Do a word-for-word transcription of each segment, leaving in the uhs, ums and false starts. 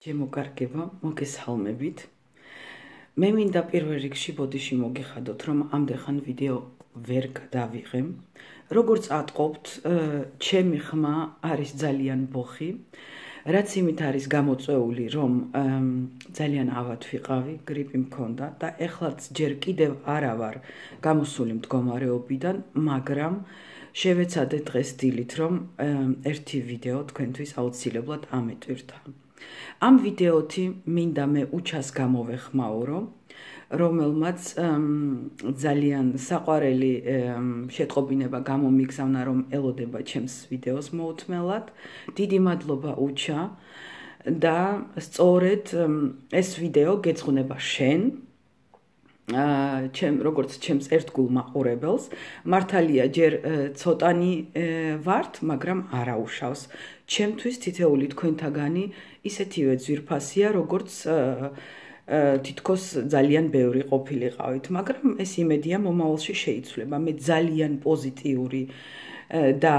შემოგარგება, მოგესალმებით. მე მინდა პირველ რიგში ბოდიში მოგიხადოთ, რომ ამდენხან ვიდეო ვერ გადავიღე. როგორც ატყობთ, ჩემი ხმა არის ძალიან ბოხი, რაც იმით არის გამოწვეული, რომ ძალიან ავად ვიყავი, გრიპი მქონდა და ეხლაც ჯერ კიდევ არა ვარ გამოსული მდგომარეობიდან, მაგრამ შევეცადე დღეს დილით, რომ ერთი ვიდეო თქვენთვის აუცილებლად ამეტვირთა. ამ ვიდეოთი მინდა მე უჩას გამოვეხმაურო, რომელმაც ძალიან საყვარელი შეტყობინება გამომიგზავნა, რომ ელოდება ჩემს ვიდეოს მოუთმელად. დიდი მადლობა უჩა და სწორედ ეს ვიდეო გეძღვნება შენ, ჩემ როგორც ჩემს ერთგულ მაყურებელს. მართალია ჯერ ცოტანი ვართ, მაგრამ არა უშავს. ჩემთვის თითეული თქვენთაგანი ისეთივე ძვირფასია, როგორც თითქოს ძალიან ბევრი ყოფილიყავით, მაგრამ ეს იმედია მომავალში შეიცვლება. მე ძალიან პოზიტიური და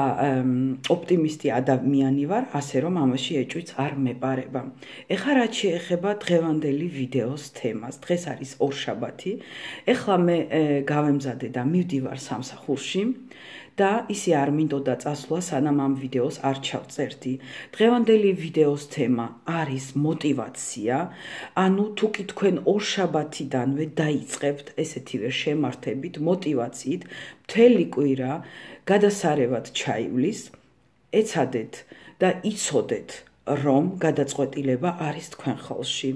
ოპტიმისტი ადამიანი ვარ, ასე რომ ამაში ეჭვიც არ მეპარება. ეხლა რაც შეეხება დღევანდელი ვიდეოს თემას. დღეს არის ორშაბათი. ეხლა მე გავემზადე და მივდივარ სამსახურში და ისე არ მინდოდა წასვლა, სანამ ამ ვიდეოს არ ჩავწერდი. დღევანდელი ვიდეოს თემა არის მოტივაცია, ანუ თუ კი თქვენ ორშაბათიდანვე დაიწყებთ ესეთივე შემართებით, მოტივაციით, მთელი კვირა გადასარევად ჩაივლის, ეცადეთ და იცოდეთ, რომ გადაწყვეტილება არის თქვენ ხელში.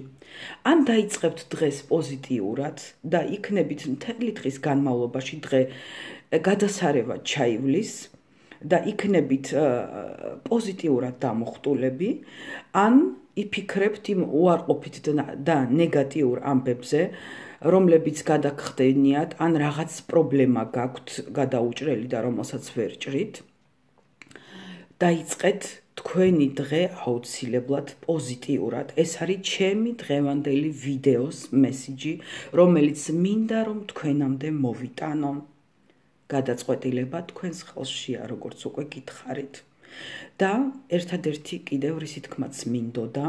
ან დაიწყებთ დღეს პოზიტიურად და იქნებით მთელი დღის განმავლობაში დღე გადასარევად ჩაივლის და იქნებით პოზიტიურად დამოხტულები, ან იფიქრებთ იმ უარყოფით და ნეგატიურ ამბებზე, რომლებიც გადაგხდენიათ, ან რაღაც პრობლემა გაქვთ გადაუჭრელი და რომელსაც ვერ ჭრით. დაიწყეთ თქვენი დღე აუცილებლად პოზიტიურად. ეს არის ჩემი დღევანდელი ვიდეოს მესიჯი, რომელიც მინდა რომ თქვენამდე მოვიტანო. გადაწყვეტილება თქვენს ხელშია, როგორც უკვე გითხარით. და ერთადერთი კიდევ რისი თქმაც მინდოდა,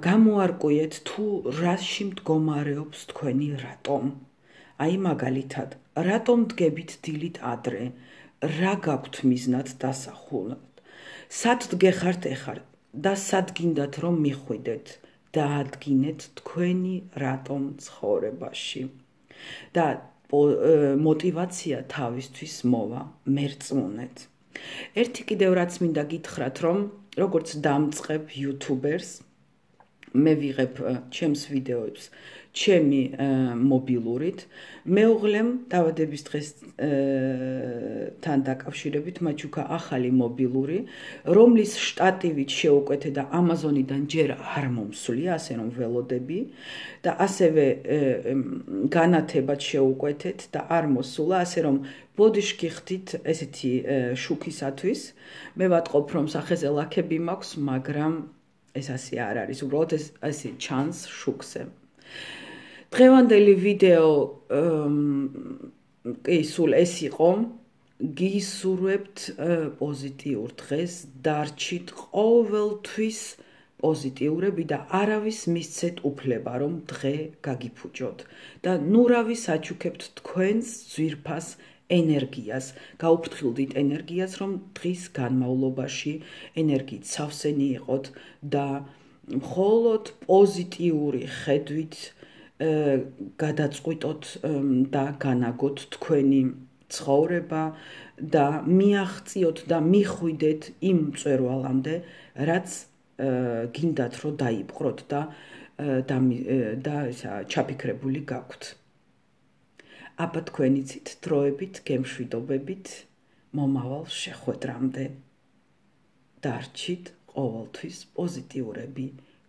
გამოარკვიეთ თუ რაში მდგომარეობს თქვენი რატომ. აი მაგალითად, რატომ დგებით დილით ადრე, რა გაქვთ მიზნად დასახულად. სად დგეხართ ეხარ და სად გინდათ რომ მიხვიდეთ, დაადგინეთ თქვენი რატომ ცხოვრებაში. და მოტივაცია თავისთვის მოვა, მერწმუნეთ. ერთი კიდევ რაც მინდა გითხრათ, რომ როგორც დამწყებ იუთუბერს, მე ვიღებ ჩემს ვიდეოებს ჩემი მობილურით. მეუღლემ დავადების დღესთან დაკავშირებით მაჩუქა ახალი მობილური, რომლის შტატივით შეუკვეთე და ამაზონიდან ჯერ არ მომსვლია, ასე რომ ველოდები და ასევე განათებად შეუკვეთეთ და არ მოსულა, ასე რომ ბოდიში გიხდით ესეთი შუქისათვის. მე ვატყობ, რომ სახეზე ლაქები მაქვს, მაგრამ ეს ასე არ არის, უბრალოდ ეს ასე ჩანს შუქზე. დღევანდელი ვიდეო კი სულ ეს იყო. გისურვებთ პოზიტიურ დღეს, დარჩით ყოველთვის პოზიტიურები და არავის მისცეთ უფლება, რომ დღე გაგიფუჭოთ და ნურავი საჩუქებთ თქვენს ძვირფას ენერგიას, გაუფრთხილდით ენერგიას, რომ დღის განმავლობაში ენერგიით სავსენი იყოთ და მხოლოდ პოზიტიური ხედვით გადაწყვიტოთ და განაგოთ თქვენი ცხოვრება და მიაღწიოთ და მიხვიდეთ იმ მწვერვალამდე, რაც გინდათ რომ დაიპყროთ და და ჩაფიქრებული გაქვთ. აბა თქვენი ცით დროებით, გემშვიდობებით, მომავალ შეხვედრამდე. დარჩით ყოველთვის პოზიტიურები,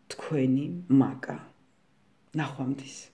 თქვენი მაკა. ნახვამდის.